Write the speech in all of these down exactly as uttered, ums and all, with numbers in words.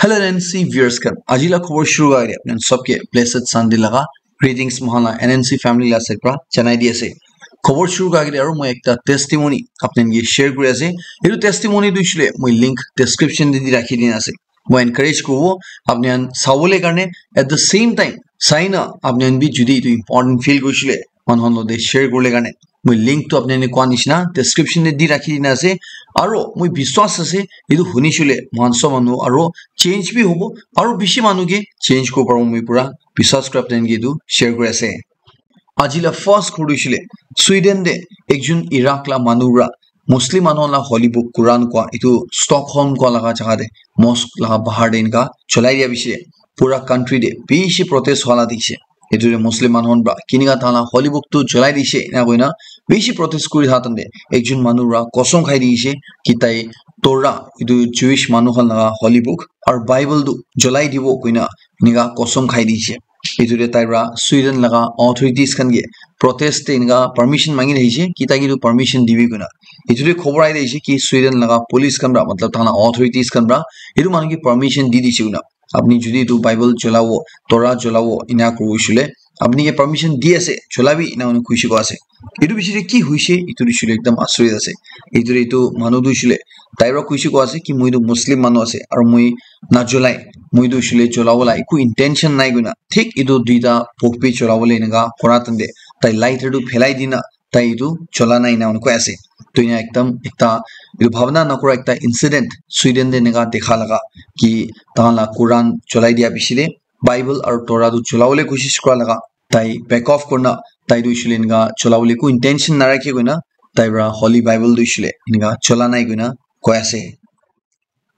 Hello N N C viewers khan, aji la khobor shuru kura age apni khan sob ke blessed Sunday laga greetings mohan la N N C family la side pra janai di ase. Khobor shuru kura age aru moi ekta testimony apni khan ke share kuri ase. Etu testimony tu hoishe le moi link description te di rakhi dina ase. Moi encourage kuribo apni khan sabole karne, at the same time sai na apni khan bi jodi etu important feel kurishe le manu khan logote share kuribole karne moi link tu apni khan ke koa nishina description te di rakhi dina ase. Aro moi biswas ase etu huni shule mohan sob manu aro change bi hobo, aro bishi manu ke change kuribo paribo moi pura biswas kura apni khan ke etu share kuri ase. Aji la first khobor tu hoishe le Sweden te ekjon Iraq la manu pura Muslim manu la holy book Quran koa etu Stockholm koa laga jaga te mosque laga bahar te enika cholai dia bishi pura country te bishi protest hua la dikhi se. Etu te Muslim manu khan pura kinika tahan la holy book tu cholai dise ena koina bishi protest kuri thakan te ekjon manu pura kosong khai dise ki tai Torah etu Jewish manu khan laga holy book aru Bible tu cholai dibo koina enika kosong khai dise. Etu te tai pura Sweden laga authorities khan ke protest te enika permission mangi thakise ki tai ke tu permission dibi koina. Etu te khobor ai thakise ki Sweden laga police khan pura matlab tahan la authorities khan pura etu manu ke permission di dise koina. Apni jodi etu Bible cholabo, Torah cholabo ena kuribo hoishe le apni ke permission di ase, cholabi ena koina kuishe koa ase. Etu bishi te ki hoishe etu hoishe le ekdam asurit ase. Etu te etu manu tu hoishe le tai pura kuishe koa ase ki moi tu Muslim manu ase aru moi na cholai, moi tu hoishe le cholabo la eku intention nai koina thik etu duita book bi cholabo le enika kura tante tai lighter tu phelai dina tai etu chola nai ena koi ase. To ena ekdam ekta etu bhabna nakura ekta incident Sweden te enika dekha laga ki tahan la Quran cholai dia bishi te Bible aru Torah tu cholabole koshish kura laga tai back off kurina tai tu hoishe le enika cholabole eku intention narakhi koina tai pura Holy Bible tu hoishe le enika chola nai koina koi ase.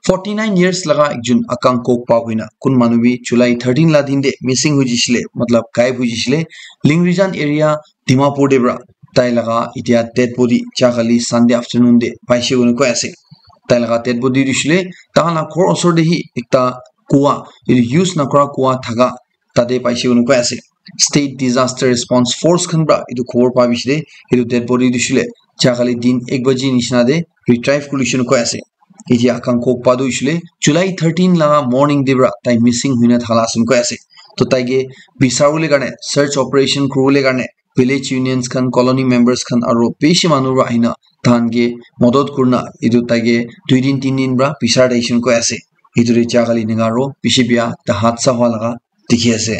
Forty nine years laga ekjon Akang Kokpa koina kun manu bi July thirteen la din te missing hoi jisile, matlab gayab hoi jisile, Lingrijan area Dimapur te pura tai laga etia dead body ja kali Sunday afternoon te paise koina koi ase. Tai laga dead body tu hoishe le tahan la ghor osor te hi ekta kua, etu use nakura kua thaka tate paise koina koi ase. State Disaster Response Force khan pura etu khobor pa bishi te etu dead body tu hoishe le ja kali din ek baji nishina te retrieve kuri koina koi ase. Etia Akang Kokpa tu hoishe le July thirteen laga morning te pura tai missing hoina thaka la ase koi ase. To tai ke bisaribole karne search operation kuribole karne village unions khan, colony members khan aru bishi manu pura ahina tahan ke madad kurina etu tai ke dui din tin din pura bisari thakise koi ase. Etu te ja kali enika aru bishi bia ekta hadsa hua laga dikhi ase.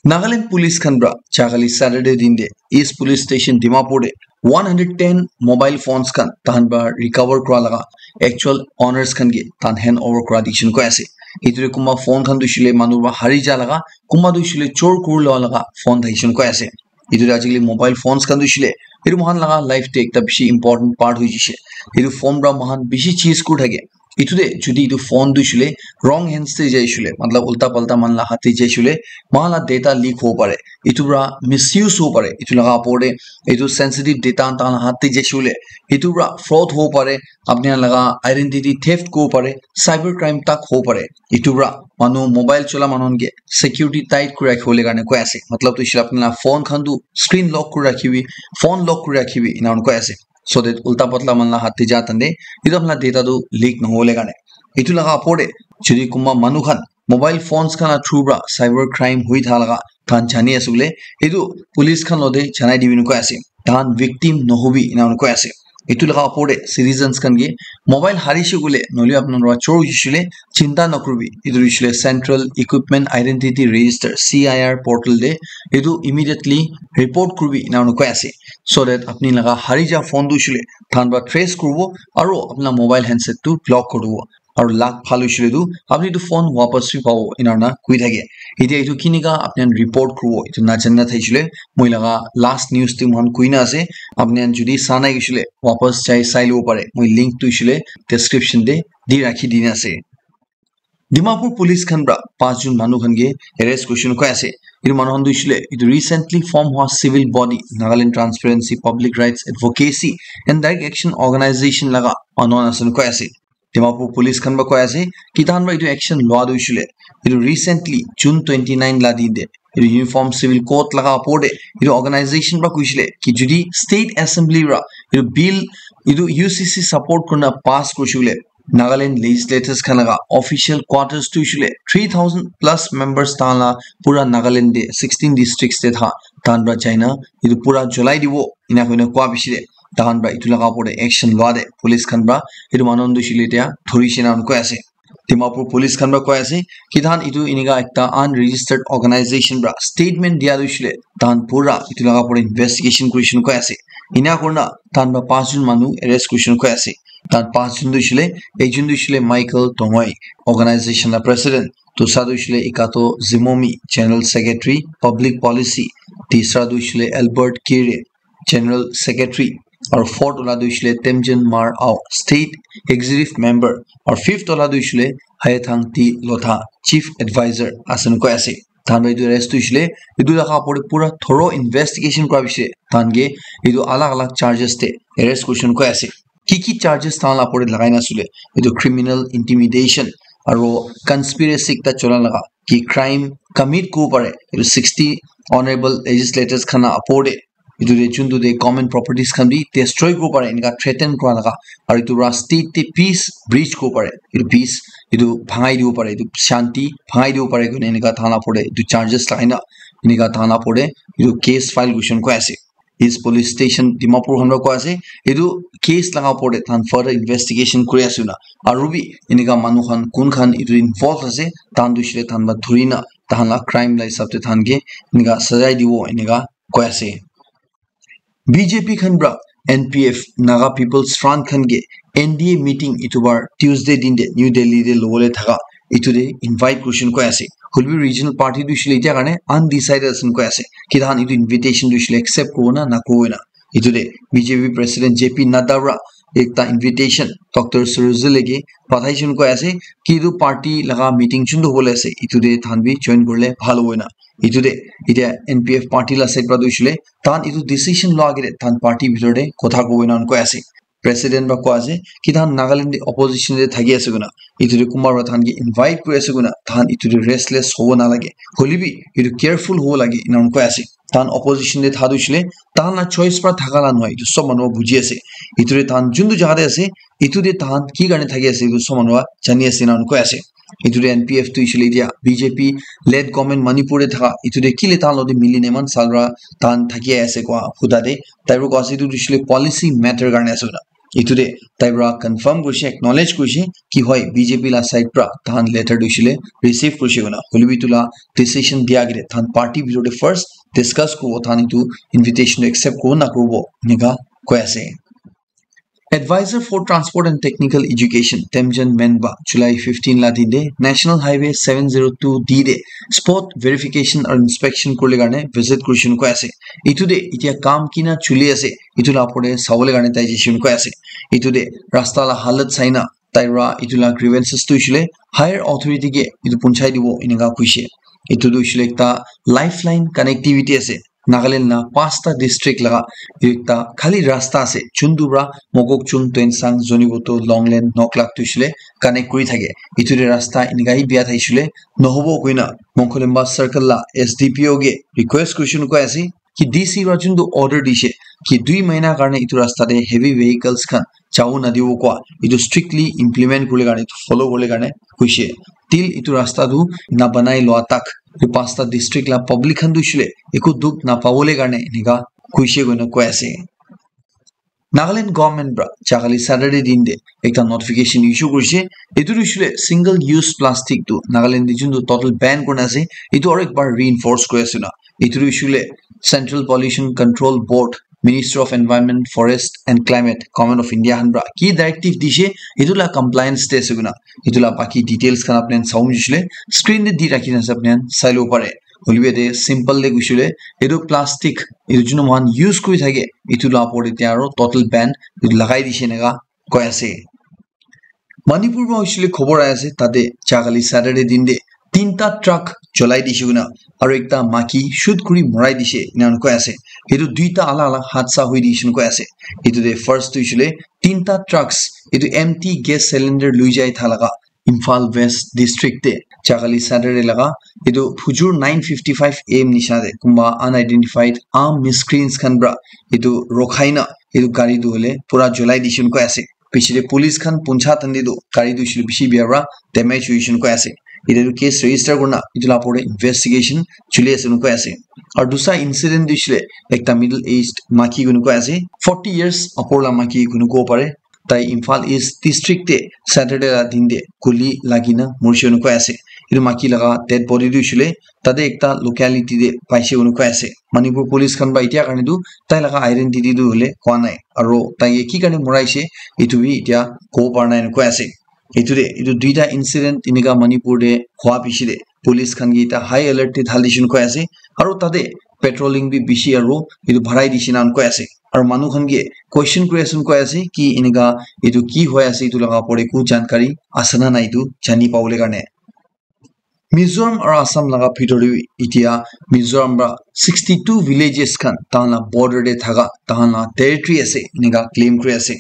Nagaland police khan pura ja kali Saturday din te East Police Station Dimapur te one hundred ten mobile phones khan tahan pura recover kura laga actual owners khan ke tahan hand over kura dikhi koi ase. Etu te kunba phone khan tu hoishe le manu pura hari ja laga, kunba tu hoishe le chor kuri lua laga phone thakise koi ase. Etu te ajikali mobile phones khan tu hoishe le etu moikhan laga life te ekta bishi important part hoi jishe. Etu phone pura moikhan bishi cheez kuri thake. Etu te jodi etu phone tu hoishe le wrong hands te jai hoishe le, matlab ulta palta manu la hath te jai hoishe le, moikhan la data leak hobo pare. Etu pura misuse hobo pare. Etu laga opor te etu sensitive data tahan la hath te jai hoishe le, etu pura fraud hobo pare. Apni khan laga identity theft kuribo pare, cyber crime tak hobo pare. Etu pura manu mobile chola manu khan ke security tight kuri rakhibole karne koi ase. Matlab tu hoishe le apni laga phone khan tu screen lock kuri rakhibi, phone lock kuri rakhibi ena koi ase. So that ulta patla manu la hath te ja tante etu apni la data tu leak nohobole karne. Etu laga opor te jodi kunba manu khan mobile phones khan la through pura cyber crime hoi thaka laga tahan jani ase koile, etu police khan logote janai dibi na koi ase. Tahan victim nohobi ena koi ase. Etu laga opor te citizens khan ke mobile harishe koile, nohole apni khan pora chor hoishe koile, chinta nakuribi. Etu hoishe koile Central Equipment Identity Register, C I R portal te etu immediately report kuribi ena koi ase. So that apni laga hari ja phone tu hoishe koile tahan pora trace kuribo aru apni laga mobile handset tu block kuribo. Aru luck bhal hoishe koile tu apni etu phone wapas bi pabo ena koi thake. Etia etu kinika apni khan report kuribo etu najana thakishe koile moi laga last news te moikhan koi na ase. Apni khan jodi sa nai hoishe koile wapas jai sai lobo pare. Moi link tu hoishe koile description te di rakhi dina ase. Dimapur police khan pora panch jon manu khan ke arrest kurishe koi ase. Etu manu khan tu hoishe koile etu recently form hua civil body Nagaland Transparency Public Rights Advocacy and Direct Action Organization laga manu khan ase koi ase. Dimapur police khan pora koi ase ki tahan pora etu action lua tu hoishe koile etu recently June twenty nine la din te etu Uniform Civil Code laga opor te etu organization pora koishe koile ki jodi state assembly pora etu bill etu U C C support kurina pass kurishe koile Nagaland legislators khan laga official quarters tu hoishe koile three thousand plus members tahan la pura Nagaland te sixteen districts te tha tahan para jaina etu pura jolai dibo ena koina koa piche te tahan para etu laga opor te action loa te police khan para etu manu khan tu hoishe koile etia dhuri shena koi ase. Dimapur police khan para koi ase ki tahan etu enika ekta unregistered organization para statement dia tu hoishe koile tahan pura etu laga opor te investigation kuri shena koi ase. Ena kurina tahan para panch jon manu arrest kuri shena koi ase. Tahan panch jon tu hoishe koile, ekjon tu hoishe koile Michael Tongoi, organization la president, dusra tu hoishe koile Ikato Zimomi, general secretary, public policy, tisra tu hoishe koile Albert Kire, general secretary, aru fourth wala tu hoishe koile Temjen Mar Ao, state executive member, aru fifth wala tu hoishe koile Haythang T Lotha, chief advisor ase koi ase. Tahan para etu arrest tu hoishe koile etu laga opor te pura thorough investigation kura piche tahan ke etu alag alag charges te arrest kuri shena koi ase. Ki ki charges tahan la opor te lagai na ase koile etu criminal intimidation aru conspiracy ekta chola laga ki crime commit kuribo pare etu sixty honorable legislators khan la opor te etu te juntu te government properties khan bi destroy kuribo pare enika threaten kura laga aru etu para state te peace breach kuribo pare etu peace etu bhangai dibo pare etu shanti bhangai dibo pare koina enika tahan la opor te etu charges lagai na enika tahan la opor te etu case file kuri shena koi ase. East police station Dimapur khan para koi ase etu case laga opor te tahan further investigation kuri ase na aru bi enika manu khan kun khan etu involve ase tahan tu hoishe koile tahan para dhuri na tahan la crime la hisab te tahan ke enika sajai dibo enika koi ase. B J P khan para N P F, Naga People's Front khan ke N D A meeting etu bar Tuesday din te New Delhi te lobole thaka etu te invite kuri shena koi ase. Hoilebi regional party tu hoishe koile etia karne undecided ase koi ase. Ki tahan etu invitation tu hoishe koile accept kuribo na nakuribo na. Etu te B J P president J P Nadda para ekta invitation Doctor Sarojil ke pathai shena koi ase ki etu party laga meeting juntu hobole ase etu te tahan bi join kurile bhal hobo na. Etu te etia N P F party la side para tu hoishe koile tahan etu decision loa agete tahan party bitor te kotha kuribo ena koi ase. President para koi ase ki tahan Nagaland te opposition te thaki ase koina etu te kunba para tahan ke invite kuri ase koina tahan etu te restless hobo nalage, hoilebi etu careful hobo lage ena koi ase. Tahan opposition te tha tu hoishe koile tahan la choice para thaka la nohoi, etu sob manu buji ase. Etu te tahan juntu jaga te ase etu te tahan ki karne thaki ase etu sob manu jani ase ena koi ase. Etu te N P F tu hoishe koile etia B J P led government Manipur te thaka etu te kile tahan logote mili na eman sal para tahan thaki ase koa huda te tai para koi ase etu tu hoishe koile policy matter karne ase koina. Etu te tai para confirm kurishe, acknowledge kurishe ki hoi B J P la side para tahan letter tu hoishe koile receive kurishe koina. Hoilebi etu la decision dia agete tahan party bitor te first discuss kuribo tahan etu invitation tu accept kuribo nakuribo enika koi ase. Advisor for Transport and Technical Education Temjen Menba July fifteen la din te National Highway seven zero two D te spot verification aru inspection kurile karne visit kuri shena koi ase. Etu te etia kam kina chuli ase etu la opor te sabole karne tai jai shena koi ase. Etu te rasta la halat saina tai para etu la grievances tu hoishe koile higher authority ke etu punchai dibo enika koishe. Etu tu hoishe koile ekta lifeline connectivity ase. Nagaland la panchta district laga ekta khali rasta ase, juntu para Mokokchung, Tuensang, Zunheboto, Longleng, Noklak tu hoishe koile connect kuri thake. Etu te rasta enika hi bia thaishe koile nohobo koina Mongkolemba circle la S D P O ke request kurishe koina koi ase ki D C para juntu order dishe ki dui mahina karne etu rasta te heavy vehicles khan jabo nadibo koa etu strictly implement kurile karne, etu follow kurile karne koishe. Till etu rasta tu na banai loa tak etu panchta district la public khan tu hoishe koile eku dukh na pabole karne enika koishe koina koi ase. Nagaland government para jahakali Saturday din te ekta notification issue kurishe. Etu tu hoishe koile single use plastic tu Nagaland te juntu total ban kurina ase, etu aru ekbar reinforce kuri ase na. Etu tu hoishe koile Central Pollution Control Board, Ministry of Environment, Forest and Climate, Government of India khan para ki directive dishe, etu la compliance te ase koina. Etu la baki details khan apni khan sabo mujishe koile screen te di rakhi na ase, apni khan sai lobo pare. Hoilebi yate simple te koishe koile etu plastic etu junu moikhan use kuri thake etu la opor te aro total ban etu lagai dishe enika koi ase. Manipur para hoishe koile khobor ahi ase, tate jahakali Saturday din te tinta truck cholai dishe koina aro ekta maiki shoot kuri morai dishe enika koi ase. Etu duita alak alak hadsa hoi dishe koi ase. Etu te first tu hoishe koile tinta trucks etu empty gas cylinder loi jai thaka laga Imphal West District te jahakali Saturday laga etu phujur nine fifty five A M nisna te kunba unidentified armed miscreants khan para etu rokhai na etu gari tu hoile pura cholai dishe koi ase. Piche te police khan puncha tande tu gari tu hoishe le bishi bia para damage hoishe koi ase. Ite tu case register kurina itu la opor te investigation chuli ase koi ase. Aru dusra incident tu hoishe le ekta middle aged maki koi ase, forty years opor la maki koi pare. Tai Imphal East District te Saturday la din te guli lagina morishe koi ase. Itu maki laga dead body tu hoishe le tate ekta locality te paishe koi ase. Manipur police khan para itya karne tu tai laga identity tu hoile koa nai. Aru tai ki karne moraishe itu bi itya kobo para nai koi ase. Itu te itu duita incident inika Manipur te hua piche te police khan ke eta high alert te dhali dishe koi ase. Aru tate patrolling bi bishi aru itu barai dishe koi ase. Aru manu khan ke question kuri ase koi ase ki inika itu ki hoi ase itu laga opor te ku jankari ase na nai itu jani pabole karne. Mizoram aru Assam laga bhitor te bi itya Mizoram para sixty two villages khan tahan la border te thaka tahan la territory ase inika claim kuri ase.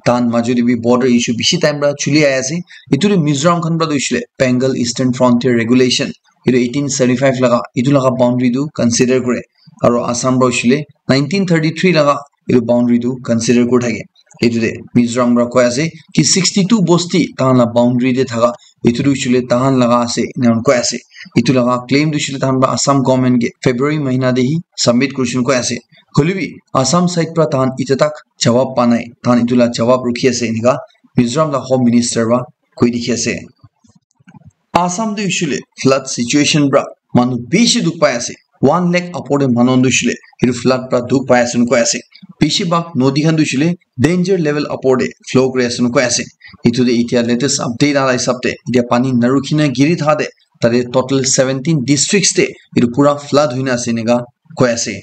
Tahan maju te bi border issue bishi time para chuli ahi ase. Itu tu Mizoram khan para tu hoishe le Bengal Eastern Frontier Regulation itu eighteen seventy five laga itu laga boundary tu consider kure. Aru Assam para hoishe le nineteen thirty three laga itu boundary tu consider kuri thake. Itu te Mizoram para koi ase ki sixty two bosti tahan la boundary te thaka itu tu hoishe le tahan laga ase ena koi ase. Itu laga claim tu hoishe le tahan para Assam government ke February mahina te hi submit kurishe koi ase. Hoile bi Assam side para tahan ita tak jawab pa nai. Tahan itu la jawab rukhi ase enika Mizoram la Home Minister para koi dikhi ase. Assam te hoishe le flood situation para manu bishi dukh pai ase. One lakh opor te manu khan tu hoishe le itu flood para dukh pai ase koi ase. Bishi bhag nodi khan tu hoishe le danger level opor te flow kuri ase koi ase. Itu te itya latest update ala hisab te itya pani narukhi na giri thaka te tate total seventeen districts te itu pura flood hoina ase enika koi ase.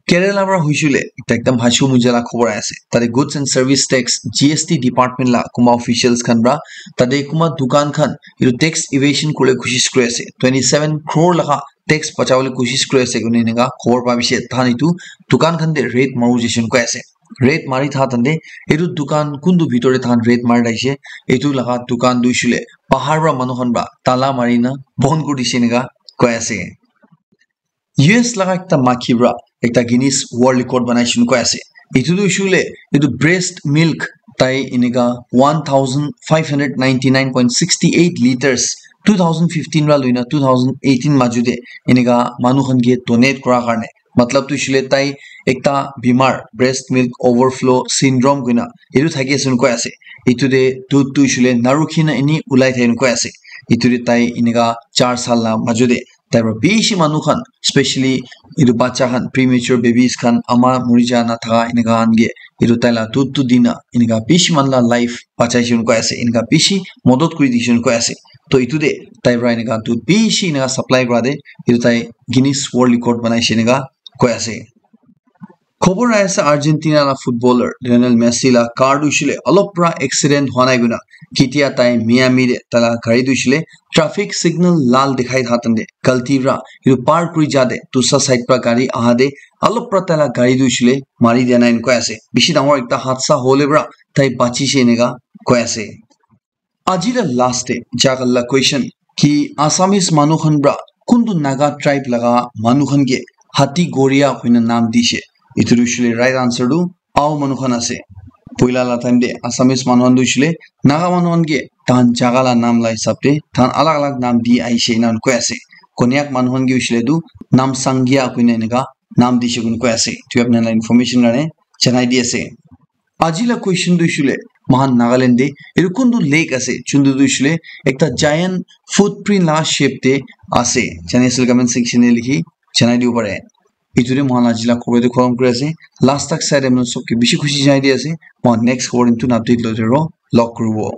Kerala para hoishe le ekta ekdam hachu muja la khobor ahi ase. Tate goods and service tax, G S T department la kunba officials khan para tate kunba dukan khan itu tax evasion kure koshish kuri ase. Twenty seven crore laga tax bachabole koshish kuri ase koina enika khobor pa bishi tahan itu dukan khan te raid maru jaise koi ase. Raid mari thaka tante itu dukan kuntu bhitor te tahan raid mari thakishe itu laga dukan tu hoishe le bahar para manu khan para tala mari na bon kuri dishe enika koi ase. U S laga ekta maki para ekta Guinness World Record banaishe koi ase. Itu tu hoishe le itu breast milk tai enika one thousand five hundred ninety nine point sixty eight liters two thousand fifteen para loina two thousand eighteen maju te enika manu khan ke donate kura karne. Matlab tu hoishe le tai ekta bimar breast milk overflow syndrome koina itu thaki ase koi ase. Itu te dudh tu hoishe le narukhi na eni ulai thake koi ase. Itu te tai enika char sal la maju te tai para bishi manu khan, specially itu bacha khan, premature babies khan, ama muri ja na thaka enika khan ke itu tai la dudh tu dina enika bishi manu la life bachaishe koi ase, enika bishi modot kuri dishe koi ase. To itu te tai para enika dudh bishi enika supply kura te itu tai Guinness World Record banaishe enika koi ase. Khobor ahi ase Argentina la footballer Lionel Messi la car tu hoishe le olop para accident hua nai koina ketia tai Miami te tai la gari tu hoishe le traffic signal lal dikhai thaka tante galti para itu par kuri ja te dusra side para gari aha te olop para tai la gari tu hoishe le mari dia nai koi ase. Bishi dangor ekta hadsa hole para tai bachishe enika koi ase. Aji la last te jagal la question ki Assamese manu khan para kuntu Naga tribe laga manu khan ke hati goria koina nam dishe? Itu tu hoishe le right answer tu Ao manu khan ase. Poila la time te Assamese manu khan tu hoishe le Naga manu khan ke tahan jaga la nam la hisab te tahan alag alag nam di ahishe ena koi ase. Konyak manu khan ke hoishe le tu Namsangya koina enika nam dishe koina koi ase. Tu apni la information karne janai di ase. Aji la question tu hoishe le moikhan Nagaland te etu kuntu lake ase juntu tu hoishe le ekta giant footprint la shape te ase. Jani asile comment section te likhi janai dibo pare. Etu te moikhan la aji la khobor tu khotom kuri ase. Last tak sai te manu sob ke bishi khushi janai di ase. Moikhan next khobor tu update loi thaki bo. Log kuribo.